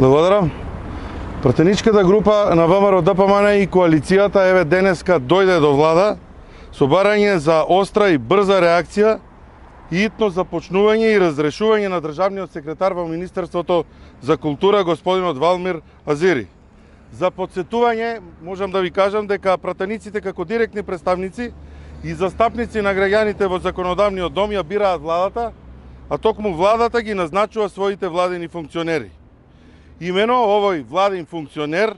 Благодарам. Пратеничката група на ВМРО ДПМН и коалицијата еве денеска дојде до влада со барање за остра и брза реакција и итно започнување и разрешување на државниот секретар во Министерството за култура господинот Валмир Азири. За подсетување можам да ви кажам дека пратениците како директни представници и застапници на граѓаните во законодавниот дом ја бираат владата, а токму владата ги назначува своите владени функционери. Имено овој владен функционер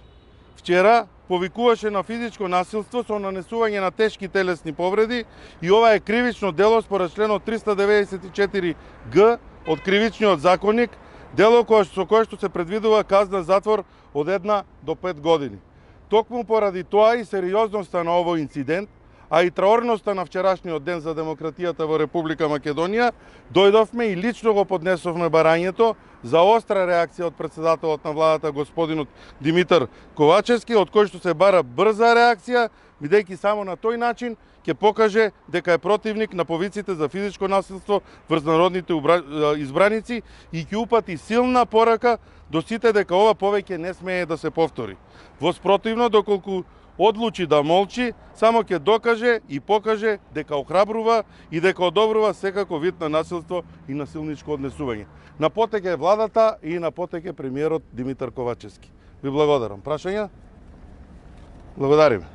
вчера повикуваше на физичко насилство со нанесување на тешки телесни повреди и ова е кривично дело според членот 394г од Кривичниот законник, дело со кое што се предвидува казна затвор од 1 до 5 години. Токму поради тоа и сериозноста на овој инцидент, а и траорноста на вчерашниот ден за демократијата во Република Македонија, дојдовме и лично го поднесовме барањето за остра реакција од председателот на владата господинот Димитар Ковачевски, од кој што се бара брза реакција, бидејќи само на тој начин ќе покаже дека е противник на повиците за физичко насилство врз народните избраници и ќе упати силна порака до сите дека ова повеќе не смее да се повтори. Воспротивно, доколку одлучи да молчи, само ќе докаже и покаже дека охрабрува и дека одобрува секако вид на насилство и насилничко однесување. На потек е владата и на потек е премиерот Димитар Ковачевски. Ви благодарам. Прашања? Благодариме.